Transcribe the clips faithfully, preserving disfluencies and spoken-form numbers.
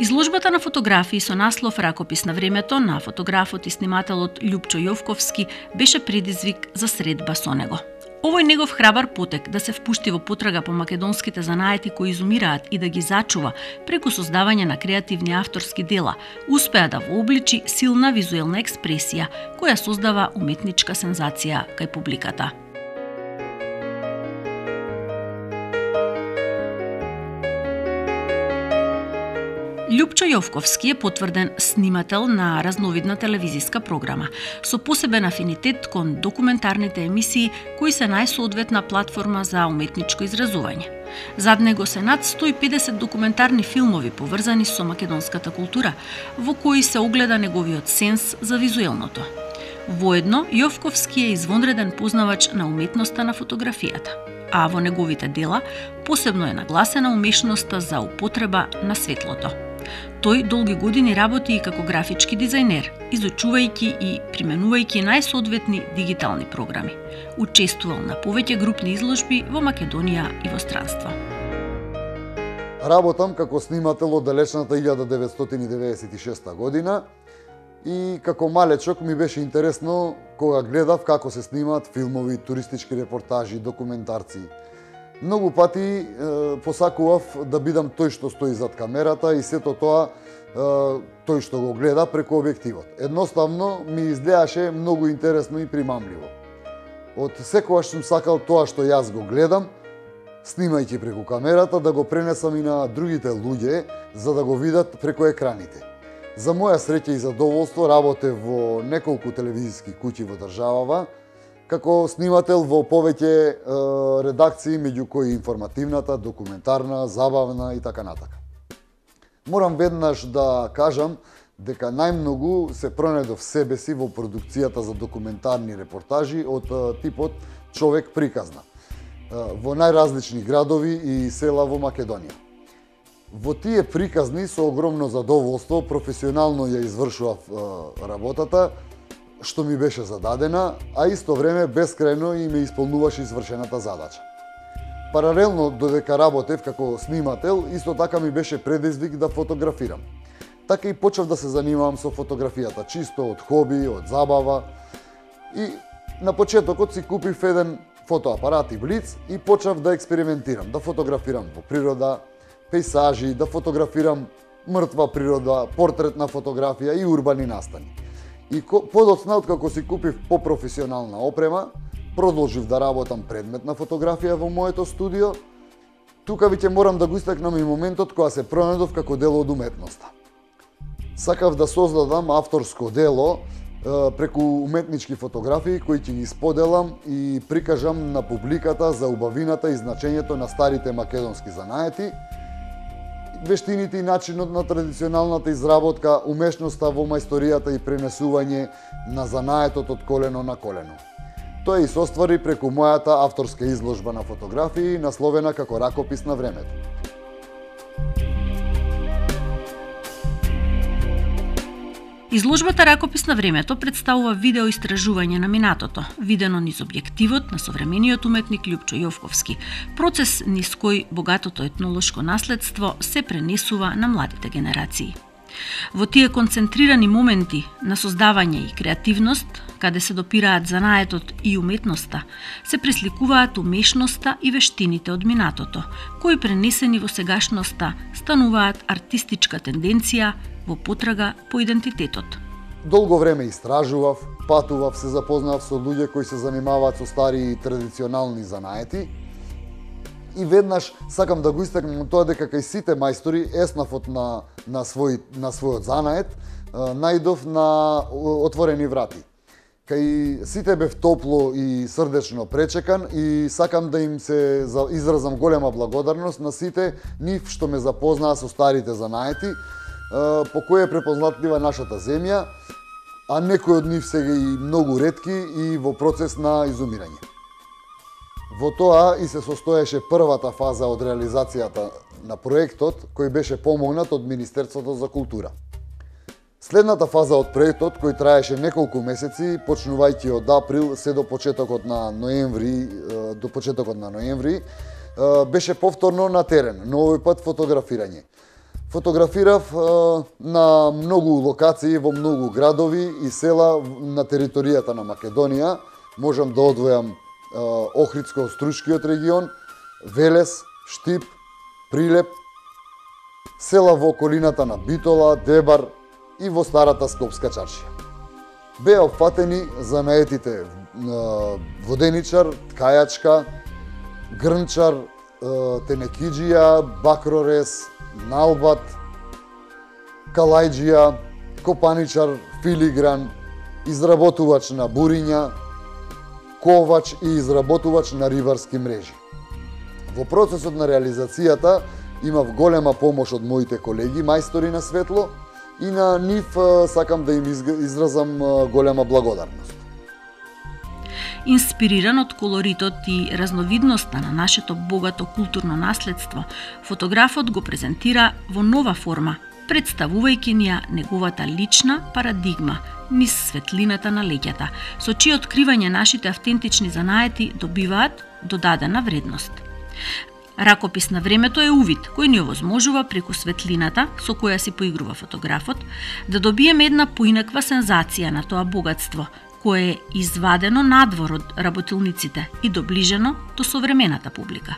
Изложбата на фотографии со наслов "Ракопис на времето" на фотографот и снимателот Љупчо Јовковски беше предизвик за средба со него. Овој негов храбар потек да се впушти во потрага по македонските занаети кои изумираат и да ги зачува преку создавање на креативни авторски дела, успеа да вообличи силна визуелна експресија која создава уметничка сензација кај публиката. Љупчо Јовковски е потврден снимател на разновидна телевизиска програма, со посебен афинитет кон документарните емисии кои се најсоодветна платформа за уметничко изразување. Зад него се над сто и педесет документарни филмови поврзани со македонската култура, во кои се огледа неговиот сенс за визуелното. Воедно, Јовковски е извонреден познавач на уметноста на фотографијата, а во неговите дела посебно е нагласена умешноста за употреба на светлото. Тој долги години работи и како графички дизајнер, изучувајќи и применувајќи најсоодветни дигитални програми. Учествувал на повеќе групни изложби во Македонија и во странство. Работам како снимател од далечната илјада деветстотини деветдесет и шеста година и како малечок ми беше интересно кога гледав како се снимаат филмови, туристички репортажи, документарци. Многу пати е, посакував да бидам тој што стои зад камерата и сето тоа е, тој што го гледа преку објективот. Едноставно ми изгледаше многу интересно и примамливо. Од секогаш сум сакал тоа што јас го гледам, снимајќи преку камерата, да го пренесам и на другите луѓе, за да го видат преку екраните. За моја среќа и задоволство работев во неколку телевизиски куќи во државава, како снимател во повеќе е, редакции, меѓу кои информативната, документарна, забавна и така натака. Морам веднаш да кажам дека најмногу се пронедов себе си во продукцијата за документарни репортажи од е, типот човек приказна, е, во најразлични градови и села во Македонија. Во тие приказни со огромно задоволство професионално ја извршував е, работата, што ми беше зададена, а исто време бескрајно и ме исполнуваше извршената задача. Паралелно додека работев како снимател, исто така ми беше предизвик да фотографирам. Така и почнав да се занимавам со фотографијата, чисто од хоби, од забава. И на почетокот си купив еден фотоапарат и блиц и почнав да експериментирам, да фотографирам во природа, пейзажи, да фотографирам мртва природа, портретна фотографија и урбани настани. И подоцна, откако си купив попрофесионална опрема, продолжив да работам предметна фотографија во моето студио. Тука веќе морам да го истакнам и моментот кога се пронедов како дел од уметноста. Сакав да создадам авторско дело е, преку уметнички фотографии кои ќе ги споделам и прикажам на публиката за убавината и значењето на старите македонски занаети, вештините и начинот на традиционалната изработка, умешноста во мајсторијата и пренесување на занаетот од колено на колено. Тоа и се оствари преку мојата авторска изложба на фотографии, насловена како "Ракопис на времето". Изложбата "Ракопис на времето" представува видео истражување на минатото, видено низ објективот на современиот уметник Љупчо Јовковски, процес низ кој богатото етнолошко наследство се пренесува на младите генерации. Во тие концентрирани моменти на создавање и креативност, каде се допираат занаетот и уметноста, се пресликуваат умешноста и вештините од минатото, кои пренесени во сегашноста стануваат артистичка тенденција во потрага по идентитетот. Долго време истражував, патував, се запознав со луѓе кои се занимаваат со стари и традиционални занаети. И веднаш сакам да го истакнам тоа дека кај сите мајстори еснафот на, на, свој, на својот занает најдов на отворени врати. Кај сите бев топло и срдечно пречекан и сакам да им се изразам голема благодарност на сите нив што ме запознаа со старите занаети, по кој е препознатлива нашата земја, а некои од нив сега и многу ретки и во процес на изумирање. Во тоа и се состоеше првата фаза од реализацијата на проектот, кој беше помогнат од Министерството за култура. Следната фаза од проектот, кој траеше неколку месеци, почнувајќи од април се до почетокот на ноември, до почетокот на ноември, беше повторно на терен, но овој пат фотографирање. Фотографирав на многу локации во многу градови и села на територијата на Македонија. Можам да одвојам Охридско-Стручкиот регион, Велес, Штип, Прилеп, села во околината на Битола, Дебар и во старата Скопска чаршија. Беа опфатени занаетите воденичар, ткајачка, грнчар, тенекиџија, бакрорез, налбат, калајџија, копаничар, филигран, изработувач на буриња, ковач и изработувач на рибарски мрежи. Во процесот на реализацијата имав голема помош од моите колеги, мајстори на светло, и на нив сакам да им изразам голема благодарност. Инспириран од колоритот и разновидноста на нашето богато културно наследство, фотографот го презентира во нова форма, представувајќи ни ја неговата лична парадигма низ светлината на леќата, со чие откривање нашите автентични занаети добиваат додадена вредност. Ракопис на времето е увид кој ни овозможува преку светлината со која си поигрува фотографот да добиеме една поинаква сензација на тоа богатство, кое е извадено надвор од работилниците и доближено до современата публика.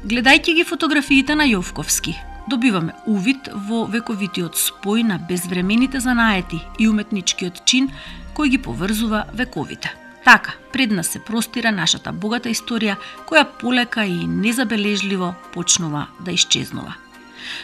Гледајќи ги фотографиите на Јовковски, добиваме увид во вековитиот спој на безвремените занаети и уметничкиот чин кој ги поврзува вековите. Така, пред нас се простира нашата богата историја која полека и незабележливо почнува да исчезнува.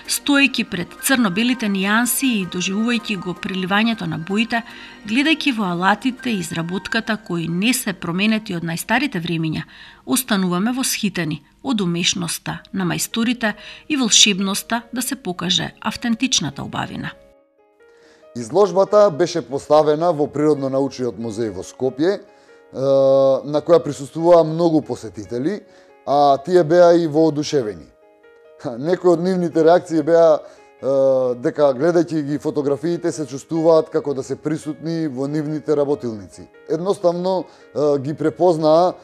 Стоејќи пред црно-белите нијанси и доживувајќи го преливањето на боите, гледајќи во алатите и изработката кои не се променети од најстарите времиња, остануваме восхитени од умешноста на мајсторите и волшебноста да се покаже автентичната убавина. Изложбата беше поставена во Природно-научниот музеј во Скопје, на која присуствуваа многу посетители, а тие беа и воодушевени. Некои од нивните реакции беа дека гледајќи ги фотографиите се чувствуваат како да се присутни во нивните работилници. Едноставно ги препознаа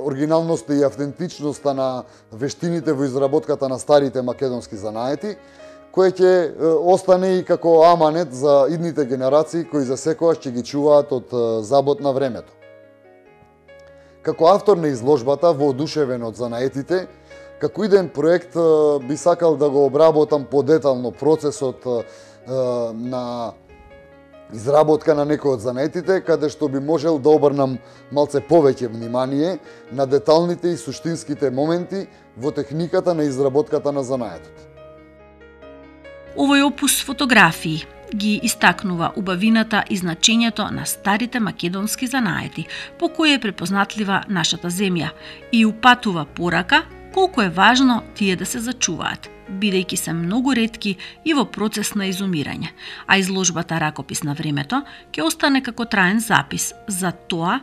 оригиналноста и автентичноста на вештините во изработката на старите македонски занаети, кој ќе остане и како аманет за идните генерации кои за секојаш ќе ги чуваат од забот на времето. Како автор на изложбата, воодушевен од занаетите, како иден проект би сакал да го обработам подетално процесот на изработка на некој од занаетите, каде што би можел да обрнам малце повеќе внимание на деталните и суштинските моменти во техниката на изработката на занаетот. Овој опус фотографии ги истакнува убавината и значењето на старите македонски занаети, по кои е препознатлива нашата земја и упатува порака колку е важно тие да се зачуваат, бидејќи се многу ретки и во процес на изумирање, а изложбата Ракопис на времето ќе остане како траен запис за тоа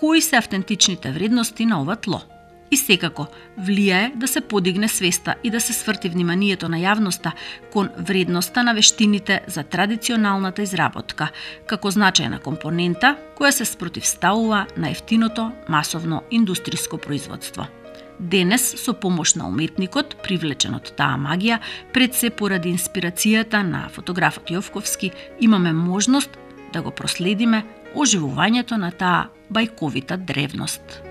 кои се автентичните вредности на ова тло. И секако влијае да се подигне свеста и да се сврти вниманието на јавноста кон вредноста на вештините за традиционалната изработка, како значајна компонента која се спротивставува на ефтиното масовно индустриско производство. Денес, со помош на уметникот, привлечен од таа магија, пред се поради инспирацијата на фотографот Јовковски, имаме можност да го проследиме оживувањето на таа бајковита древност.